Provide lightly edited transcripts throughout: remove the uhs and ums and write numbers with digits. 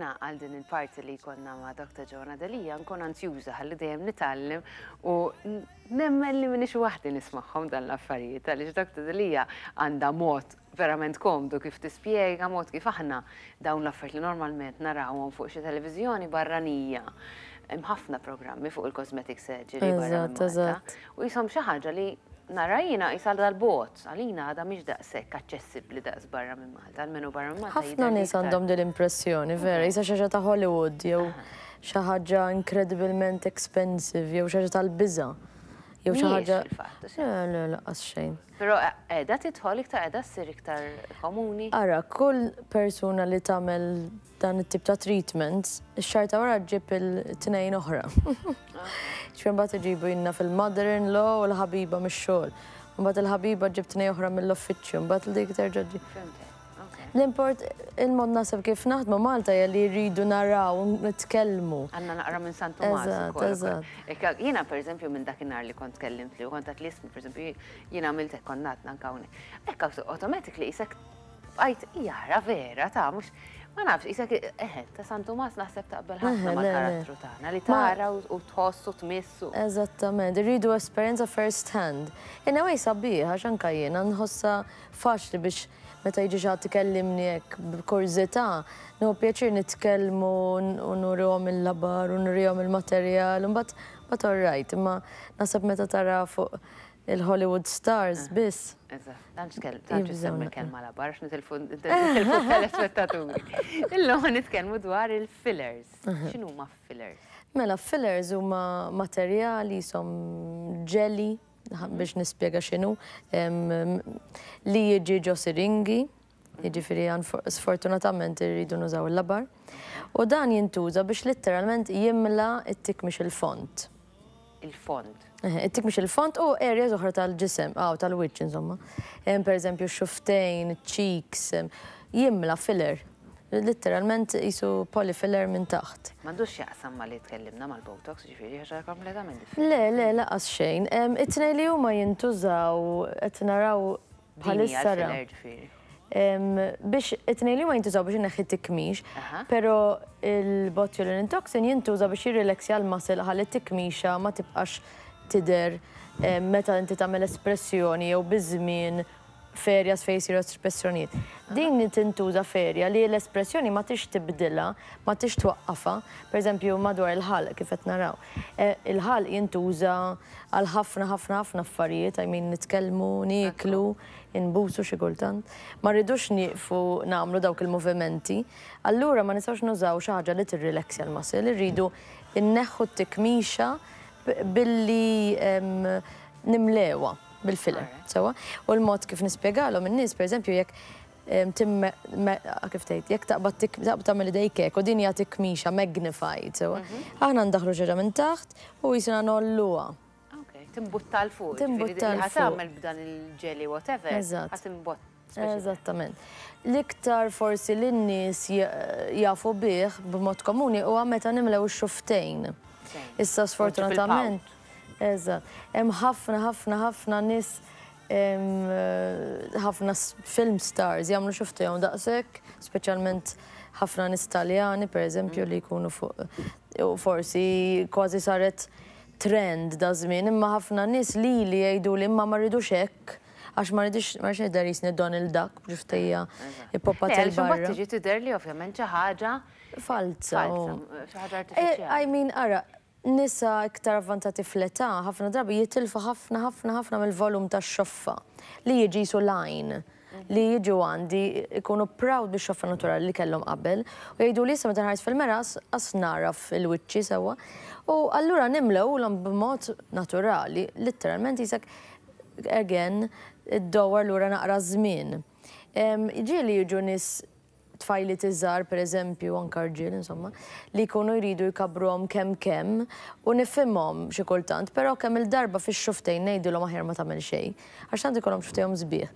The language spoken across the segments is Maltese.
Jiena għal din il-parti li jkollna ma' Dr. Joanna Delia nkun anzjuża ħalli dejjem nitgħallem u nemmen li m'iniex waħdi nismagħhom dan l-affarijiet għaliex Dr. Delia għandha mod verament komdu kif tispjega, mod kif aħna dawn l-affarijiet li normalment narawhom fuq xi televiżjoni barranija. Hemm ħafna programmi fuq il-cosmetic surgery barra minn Malta. U jisom xi ħaġa li nara jiena qisha dal-bogħod, għalina għadha mhix daqshekk aċċessibbli daqs barra minn Malta, almenu barra minn Malta. Ħafna nies għandhom din l-impressjoni, vera, qisha xi ħaġa ta' Hollywood jew xi ħaġa incredibilment expensive jew xi ħaġa tal-biża' jew xi ħaġa. Le, le, lanqas xejn. Però qiegħda tidħol iktar, qiegħda ssir iktar komuni? Ara, kull persuna li tagħmel dan it-tip ta' treatments, ix-xahar ta' wara ġġib il-tnejn oħra. Ġifieri mbagħad iġibu jiena fil-mother-in-law u l-ħabiba mix-xogħol. Mbagħad il-ħabiba ġġib tnejn oħra mill-uffiċċju, mbagħad dik terġa' ġġib. L-import, il-mod naħseb kif naħdmu Malta hija li rridu naraw, nitkellmu. Għandna naqra minn San Tumas. Eżatt, eżatt. Jiena pereżempju minn dakinhar li kont tkellimt li u kont għedt li isma' pereżempju jiena għamilt hekk konna għadna anke hawnhekk. Hekk automatically qisek bqajt jara vera ta' mhux ma nafx qisek eħe ta' San Tumas naħseb taqbel ħafna mal-karattru tagħna li tara u tħoss u tmiss. Eżattament, irridu esperjenza first hand. In a way sabiħ għax anke jiena nħossha faċli biex meta jiġi xi ħadd ikellimni hekk b'kurżità, nieħu pjaċir nitkellmu u nurihom il-labar u nurihom il-materjal u mbagħad mbagħad all right, imma naħseb meta tara fuq il-Hollywood stars biss. Eżatt, tantx tantx issemmi l-kelma labar għax nitilfu telespettaturi. Illum ħa nitkellmu dwar il-fillers. X'inhuma fillers? Mela, fillers huma materjali jisom jelly, biex nispjega x'inhu, li jiġi ġo siringi, jiġifieri sfortunatament irridu nużaw il-labar. U dan jintuża biex litteralment jimla t-tikmix il-font. Il-font. It-tikmix il-font u areas oħra tal-ġisem, aw tal-wiċċ insomma. Per eżempju x-xufftejn, cheeks, jimla filler. Litteralment qisu polyfiller minn taħt. M'għandux x'jaqsam ma' li tkellimna mal-Botox, jiġifieri ħaġa kompletament differenti. Le, le, lanqas xejn. It-tnejn li huma jintużaw qed naraw bħalissa. Din hija l-filler ġifieri. Biex it-tnejn li huma jintużaw biex ineħħi tikmix, però il-botulinum toxin jintuża biex jirrileksja l-muscle ħalli t-tikmixa ma tibqax tidher meta inti tagħmel espressjoni jew biż-żmien f'areas fejn isiru espressjonijiet. Din tintuża f'area li l-espressjoni ma tix tibdilha, ma tix twaqqafha, pereżempju madwar il-ħalq kif qed naraw. Il-ħalq jintuża għal ħafna ħafna ħafna affarijiet, I mean nitkellmu, nieklu, inbusu xi kultant. Ma rridux nieqfu nagħmlu dawk il-movimenti. Allura ma nistgħux nużaw xi ħaġa li tirrileksja l-muscle, irridu nneħħu t-tikmixa billi nimlewha bil-filler. Sewwa? U l-mod kif nispjegalhom in-nies, pereżempju, jekk tim kif tgħid, jekk taqbad taqbad tagħmel idejk hekk u din hija tikmixa magnified, sewwa? Aħna ndaħħlu xi ħaġa minn taħt u jisina ngħolluha. Ok, timbutta 'l fuq. Timbutta 'l fuq. Ħa tagħmel b'dan il-jelly whatever. Eżatt. Ħa timbott. Eżattament. L-iktar forsi li n-nies jafu bih b'mod komuni huwa meta nimlew ix-xufftejn. Issa sfortunatament. Eżatt. Hemm ħafna ħafna ħafna nies ħafna film stars jagħmlu xufftejhom daqshekk, speċjalment ħafna nies Taljani pereżempju li jkunu fuq u forsi kważi saret trend daż-żmien, imma ħafna nies lili jgħiduli imma ma rridux hekk għax ma rridix ma rridx nidher jisni Donald Duck b'ġuftejja ippoppata 'l barra. Mbagħad tiġi tidher li ovvjament xi ħaġa falza. Falza, xi ħaġa artifiċjali. I mean, ara, nisa iktar avvanzati fl-età ħafna drabi jitilfu ħafna ħafna ħafna mill-volum tax-xoffa li jiġi qisu line. li jiġu għandi ikunu proud bix-xoffa naturali li kellhom qabel u jgħiduli issa meta nħares fil-mera qas nagħraf il-wiċċi sewwa. U allura nimlewhulhom b'mod naturali, litteralment qisek again iddowwar lura naqra ż-żmien. Ġieli jiġu nies tfajliet iżgħar pereżempju, anke rġiel insomma, li jkunu jridu jkabbruhom kemm kemm u nifhimhom xi kultant, però kemm-il darba fix-xufftejn ngħidilhom aħjar ma tagħmel xejn, għax tant ikollhom xufftejhom sbieħ.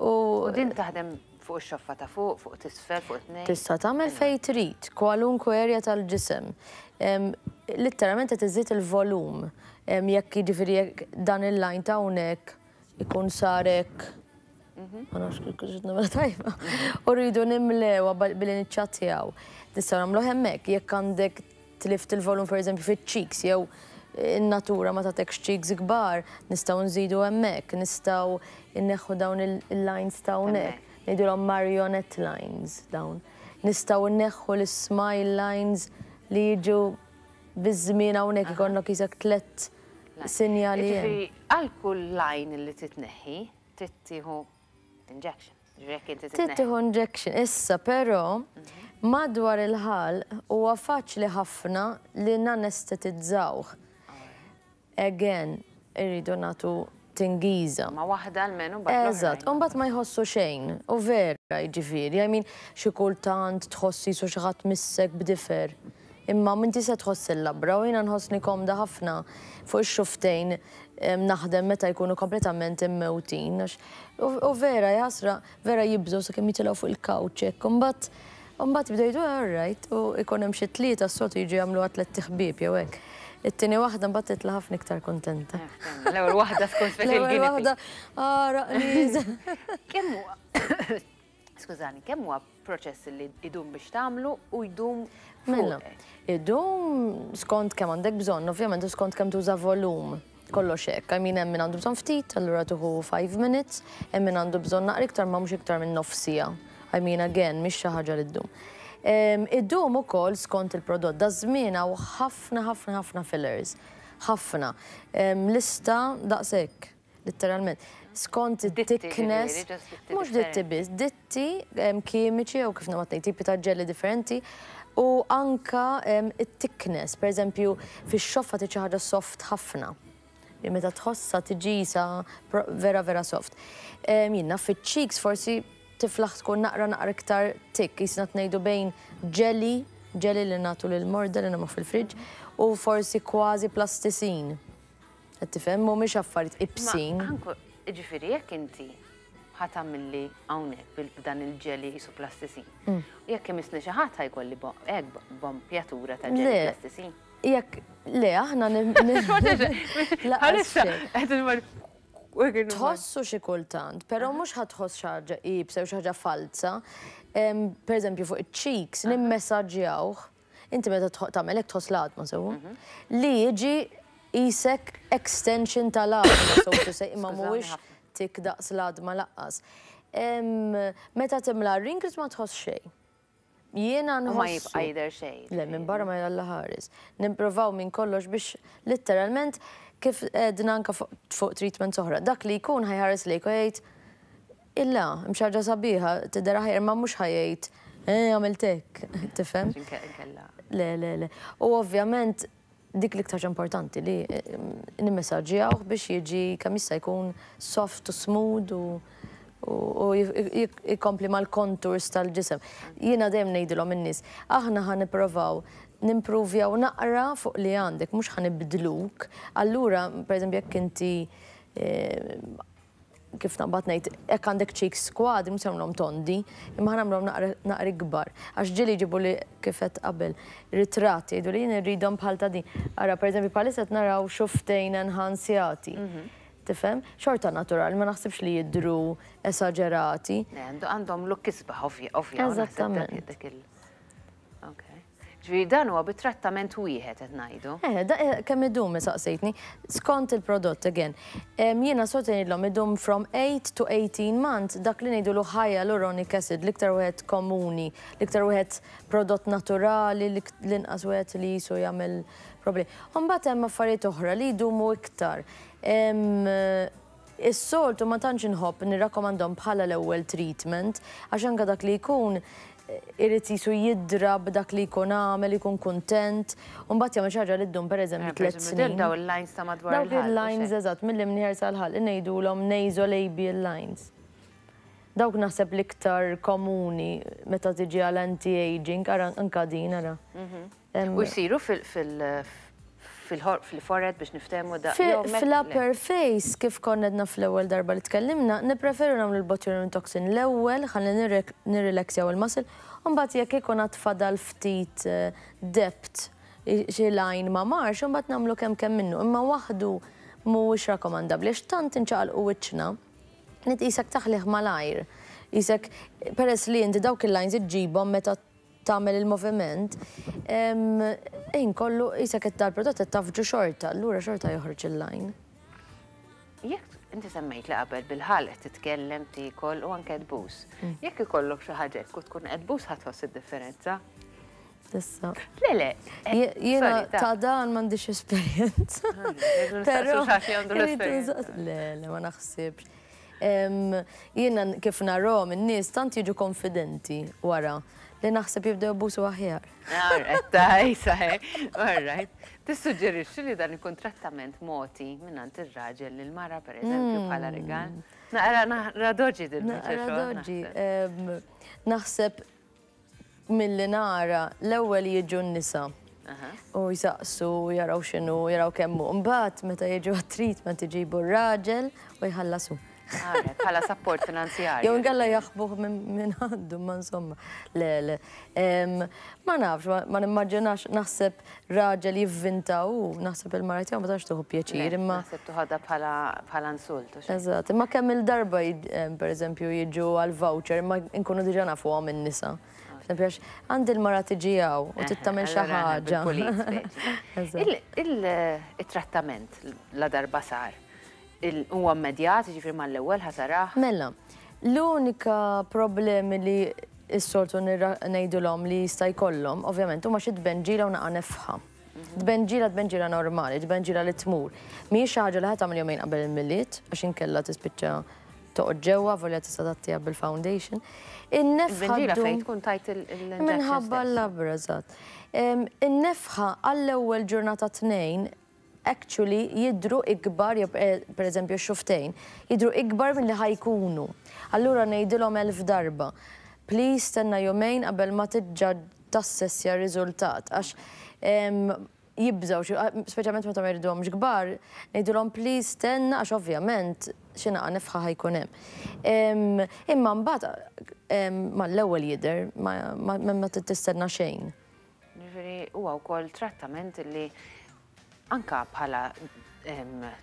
U din taħdem fuq ix-xoffa ta' fuq, fuq t'isfel, fuq it-tnejn? Tista' tagħmel fejn trid, kwalunkwe area tal-ġisem. Litteralment qed iżżid il-volum. Jekk jiġifieri jekk dan il-line ta' hawnhekk ikun sar hekk, ma nafx kif kux nagħmel tajba, u rridu nimlewha billi niċċattjaw. Nistgħu nagħmluh hemmhekk. Jekk għandek tlift il-volum, per eżempju, fiċ-cheeks jew in-natura ma tagħtekx cheeks kbar, nistgħu nżidu hemmhekk, nistgħu nneħħu dawn il-lines ta' hawnhekk. Ngħidulhom marionette lines dawn. Nistgħu nneħħu l-smile lines li jiġu biż-żmien hawnhekk, ikollok qisek tlett sinjali hemm. Jiġifieri għal kull line li titneħħi, trid tieħu injection. Jiġifieri jekk inti Trid titneħħi. tieħu injection. Issa però madwar il-ħalq huwa faċli ħafna li nanestetizzawh. Again, irridu nagħtu tingiża. Ma waħda almenu mbagħad l-oħrajn. Eżatt, u mbagħad ma jħossu xejn. U vera, jiġifieri, I mean, xi kultant tħoss qisu xi ħadd missek b'difer. Imma m'inti se tħoss il-labra u jiena nħossni komda ħafna fuq ix-xuftejn naħdem meta jkunu kompletament immewtin. Għax u vera jaħasra, vera jibżgħu sakemm jitilgħu fuq il-couch hekk. U mbagħad jibdew jgħidu all right, u jkun hemm xi tlieta s-soltu jiġu jagħmluha tlett iħbieb jew hekk. It-tieni waħda mbagħad titla' ħafna iktar kuntenta. L-ewwel waħda tkun speċi L-ewwel l-guinea waħda, pig. ara, qniża. Kemm huwa Skużani, kemm huwa proċess li idum biex tagħmlu u jdum Mela, fuqek? idum skont kemm għandek bżonn, ovvjament, u skont kemm tuża volum. Kollox hekk. I mean, hemm min għandu bżonn ftit, allura tuħu 5 minutes, hemm min għandu bżonn naqra iktar ma mhux iktar minn nofs siegħa. I mean, again, mhix xi ħaġa li ddum. Idum ukoll skont il-prodott. Da żmien hawn ħafna, ħafna, ħafna fillers. Ħafna. Lista daqshekk, letteralment. Skont Ditti, it-thickness, ġifieri, just ditti mhux ditti differenti. biss, ditti kimiċi jew kif nagħmel ngħid, tipi ta' ġelli differenti u anka it-thickness, per eżempju, fix-xoffa tiġi ħaġa soft ħafna. Li meta tħossa tiġi sa vera vera soft. Jiena fiċ-cheeks forsi tiflaħ tkun naqra naqra iktar thick, jisna tnejdu bejn jelly, jelly li nagħtu lil morda li nagħmlu fil-friġġ, u forsi kważi plasticine. Qed tifhem, mhumiex affarijiet ibsin. Ma anku, ġifieri jekk inti ħa tagħmilli hawnhekk bil-dan il-jelly qisu plasticine. Jekk imissni xi ħadd ħa jkolli hekk bompjatura ta' jelly Le. plasticine. Jekk le aħna laqas Għalissa, xejn. qed imur Tħossu xi kultant, però mhux ħa tħoss xi ħaġa iebsa jew xi ħaġa falsa. Per eżempju fuq iċ-cheeks nimmessaġġjawh. Inti meta tagħmel hekk tħoss l-għadma sewwa. Li jiġi qisek extension tal-għadma, so to say, imma Skużani mhuwiex ħafna. tik daqs l-għadma laqqas. Meta timla wrinkles ma tħoss xejn. Jiena U ma nħossu. jibqa' jidher xejn. Le, minn barra ma jalla ħares. Nipprovaw minn kollox biex letteralment kif edna anka fuq treatment oħra. Dak li jkun ħa jħares lejk u jgħid illa, hemm xi ħaġa sabiħa, tidher aħjar, ma mhux ħa jgħid, għamilt hekk, tifhem? Inkella. Le, le, le. U ovvjament dik l-iktar ħaġa importanti li nimmessaġġjawh biex jiġi kemm jista' jkun soft u smooth u jikompli mal-contours tal-ġisem. Jiena dejjem ngħidilhom in-nies, aħna ħa nipprovaw nimpruvjaw naqra fuq li għandek, mhux ħa nibdluk. Allura, per eżempju, jekk inti kif naqbad ngħid, jekk għandek cheeks kwadri, mhux nagħmluhom tondi, imma ħa nagħmluhom naqra kbar. Għax ġieli jġibu li kif qed qabel ritratti, jgħidu li jien irridhom bħal ta' din. Ara, per eżempju, bħalissa qed naraw xuftejn enhancjati. Tifhem? Xorta naturali, ma naħsibx li jidru esaġerati. Le, għandhom look isbaħ, ovvja, u naħseb Eżattament. dak Ok. Ġifieri dan huwa bit-trattament wieħed qed ngħidu. Da, kemm idum saqsejtni, skont il-prodott again. Jiena sort ngħidlhom idum from 8 to 18 months dak li ngħidulu hyaluronic acid, l-iktar wieħed komuni, l-iktar wieħed prodott naturali, l-inqas wieħed li jisu jagħmel problemi. Imbagħad hemm affarijiet oħra li jdumu iktar. Is-soltu ma tantx inħobb nirrakkomandhom bħala l-ewwel treatment, għax anke dak li jkun irid jisu jidrab dak li jkun għamel, jkun kuntent, u mbagħad jagħmel xi ħaġa li ddum pereżempju 3 Per eżempju, snin. Daw il-lines ta' madwar Dawk il-ħalq, il-lines u xejn. eżatt, mill-imnieħer sal-ħalq, ngħidulhom nasolabial lines. Dawk naħseb l-iktar komuni meta tiġi għal anti-aging, ara anka din ara. U jsiru fil-forehead biex niftehmu da. Jew mek- Fil-upper face, kif konna għedna fl-ewwel darba li tkellimna, nippreferu nagħmlu l-botulinum toxin l-ewwel, ħalli nirrilaxjaw il-muscle, u mbagħad jekk ikun għad fadal ftit depth xi line ma marx, u mbagħad nagħmlu kemm kemm minnu. Imma waħdu mhuwiex rakkomandabbli għax tant inċaqalqu wiċċna, nit qisek taħlih malajr. Qisek peress li inti dawk il-lines iġġibhom meta tagħmel il-moviment, ħin kollu qisek qed dal-prodott qed tafġu xorta, allura xorta joħroġ il-line. Jekk inti semmejt li qabel bil-ħalq titkellem, tiekol u anke tbus. Jekk ikollok xi ħaġa hekk u tkun qed tbus ħa tħoss id-differenza? Tista'. Le, le. Jiena ta' dan m'għandix esperjenza. Però. Le, le, ma naħsibx. Jiena kif narahom in-nies tant jiġu konfidenti wara li naħseb jibdew ibusu aħjar. All right. Tissuġġerixxi li dan ikun trattament mogħti mingħand ir-raġel lil mara pereżempju bħala rigal? Naqra naqra doġi din. Naqra doġi. Naħseb milli nara l-ewwel jiġu n-nisa. U jsaqsu, jaraw x'inhu, jaraw kemm hu. Mbagħad meta jiġu għat-treatment iġibu r-raġel u jħallasu. Bħala support finanzjarju. Jew inkella jaħbuh minn għandu, ma insomma. Le, le. Ma nafx, ma nimmaġinax naħseb raġel jivvinta u naħseb il-mara tiegħu ma tantx tieħu pjaċir imma. Naħseb toħodha bħala insult. Eżatt, imma kemm il-darba pereżempju jiġu għal voucher imma nkunu diġà nafuhom in-nisa. Pereżempju għax għandi l-mara tiġi hawn u trid tagħmel xi ħaġa. Il-trattament la darba sar, huwa immedjat, jiġifieri mal-ewwel ħa tarah? Mela, l-unika problemi li s-soltu ngħidulhom li jista' jkollhom, ovvjament, huma xi tbenġila u naqa' nefħa. Tbenġila tbenġila normali, tbenġila li tmur. Mhijiex xi ħaġa li ħa tagħmel jumejn qabel il-Milied, għax inkella tispiċċa toqgħod ġewwa volja tista' tgħattiha bil-foundation. In-nefħa. Tbenġila fejn tkun tajt il-injection. Minħabba l-labra, eżatt. In-nefħa għall-ewwel ġurnata tnejn actually jidhru ikbar, jew pereżempju x-xufftejn, jidhru ikbar milli ħa jkunu. Allura ngħidilhom 1000 darba, please stenna jumejn qabel ma tiġġa tassessja r-riżultat għax jibżgħu xi, speċjalment meta ma jriduhomx kbar, ngħidilhom please stenna għax ovvjament xi naqa' nefħa ħa jkun hemm. Imma mbagħad mal-ewwel jidher ma trid tistenna xejn. Jiġifieri huwa wkoll trattament li anka bħala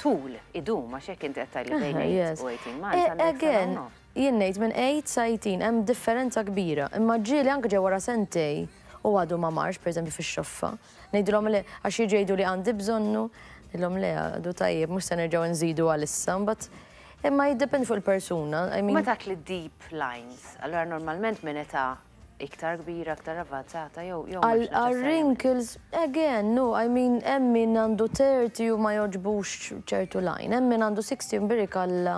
tul idum għax jekk inti qed tgħidli bejn 8 u 18 months. Again, jien ngħid minn 8 sa 18 hemm differenza kbira, imma ġieli anke ġew wara sentej u għadu ma marx, pereżempju fix-xoffa. Ngħidilhom le għax jiġu jgħidu li għandi bżonnu, ngħidilhom le għadu tajjeb mhux se nerġgħu nżidu għalissa, mbagħad imma jiddependi fuq il-persuna. Meta tgħid li deep lines, allura normalment minn età iktar kbira, iktar avvanzata jew jew Għal wrinkles, again, no, I mean, hemm min għandu 30 u ma jogħġbux ċertu line, hemm min għandu 60 u Alla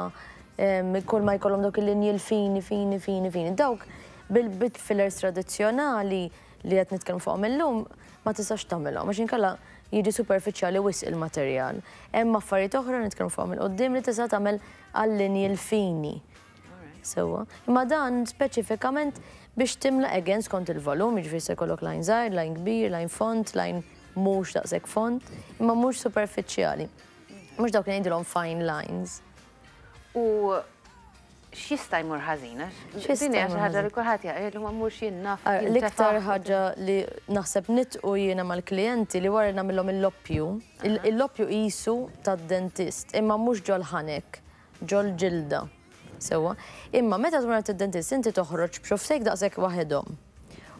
kull ma jkollhom dawk il-linji l-fini, fini, fini, fini. Dawk bil-bit fillers tradizzjonali li qed nitkellmu fuqhom illum ma tistax tagħmilhom għax inkella jiġi superfiċjali wisq il-materjal. Hemm affarijiet oħra nitkellmu fuqhom il-qudiem li tista' tagħmel għal-linji l-fini. Sewwa. Imma dan speċifikament biex timla again skont il-volum, jiġifieri se jkollok line żgħir, line kbir, line fond, line mhux daqshekk fond, imma mhux superfiċjali. Mhux dawk li ngħidilhom fine lines. U x'jista' jmur ħażin? Din hija xi ħaġa li kulħadd jaqgħidlu ma mhux jien naf. L-iktar ħaġa li naħseb nitqu jiena mal-klijenti li wara nagħmilhom il-loppju, il-loppju qisu tad-dentist, imma mhux ġol-ħanek, ġol-ġilda. Sewwa. Imma meta tmur għand id-dentist inti toħroġ b'xofftejk daqshekk waħedhom.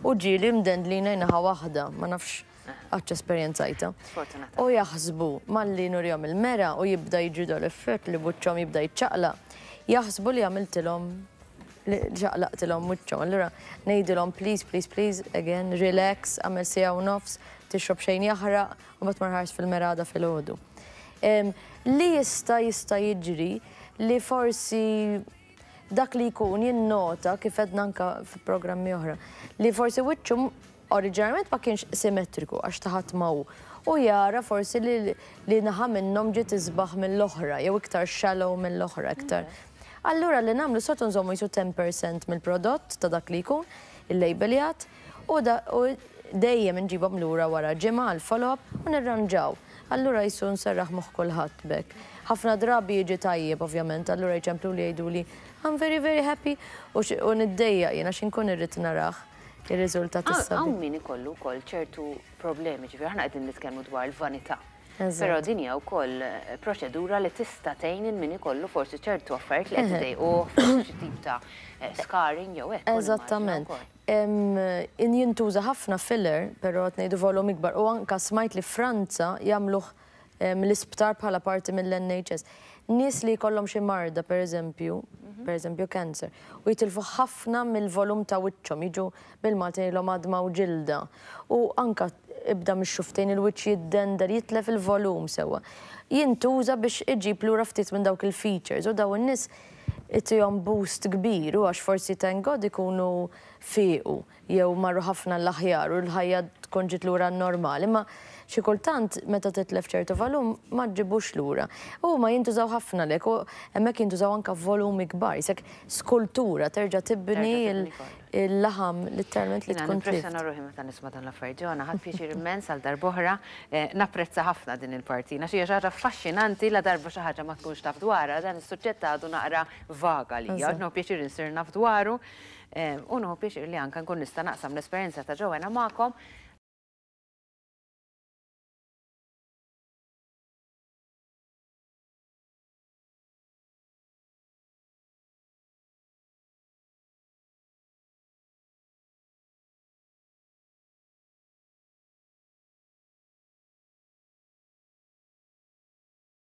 U ġieli mdendlina naħa waħda, ma nafx qattx esperjenzajtha. U jaħsbu malli nurihom il-mera u jibda jiġri dal-effett li wiċċhom jibda jiċċaqlaq, jaħsbu li għamiltilhom li ċaqlaqtilhom wiċċhom. Allura ngħidilhom please, please, please, again, relax, għamel siegħa u nofs, tixrob xejn jaħraq u mbagħad mur ħares fil-mera għada filgħodu. Li jista' jista' jiġri li forsi dak li jkun jinnota kif għedna anka fi programmi oħra, li forsi wiċċu oriġinarjament ma kienx simmetriku għax ta' ħadd ma hu. U jara forsi li, li naħa minnhom ġiet isbaħ mill-oħra, jew iktar shallow mill-oħra, iktar. Allura li nagħmlu soltu nżommu jisu 10% mill-prodott ta' dak li jkun, il-labeljat, u, da, u dejjem nġibhom lura wara ġimgħa għal follow-up u nirranġaw. Allura jisu nserraħ moħħ kulħadd bek. Ħafna drabi jiġi tajjeb ovvjament, allura jċemplu li jgħidu li I'm very very happy u, u niddejjaq jiena x'inkun irrid narah ir-riżultat issa. Hawn min ikollu wkoll ċertu problemi, ġifieri aħna qegħdin nitkellmu dwar il-vanità. Però din hija wkoll proċedura li tista' tgħin lil min ikollu forsi ċertu affarijiet li qed idejquh, forsi xi tip ta' scarring jew hekk. Eżattament. Jintuża ħafna filler, però qed ngħidu volum ikbar u anke smajt li Franza jagħmluh l-isptar bħala parti mill-NHS. Nies li jkollhom xi marda, per eżempju cancer, u jitilfu ħafna mill-volum ta' wiċċhom, jiġu bil-Malti ngħidilhom għadma u ġilda. U anka ibda mix-xufftejn, il-wiċċ jiddendel, jitlef il-volum sewa. Jintuża biex iġib lura ftit minn dawk il-features u daw in-nies itihom boost kbir u għax forsi, thank God, ikunu fiqu jew marru ħafna l-aħjar u l-ħajja tkun ġiet lura normali, ma xi kultant meta titlef ċertu volum ma ġġibux lura. U ma jintużaw ħafna lek u hemmhekk jintużaw anka volumi kbar, qisek skultura, terġa' tibni il-laħam literalment li tkun tlift. Nimpressjona ruħi meta nisma' dan l-affarijiet. Joanna, ħadt pjaċir immens għal darb'oħra. Napprezza ħafna din il-partina. Xi ħaġa affaxxinanti la darba xi ħaġa ma tkunx taf dwarha, dan is-suġġett għadu naqra vaga li. Nieħu pjaċir insir naf dwaru. U nieħu pjaċir li anka nkun nista' naqsam l-esperjenza ta' Joanna magħkom.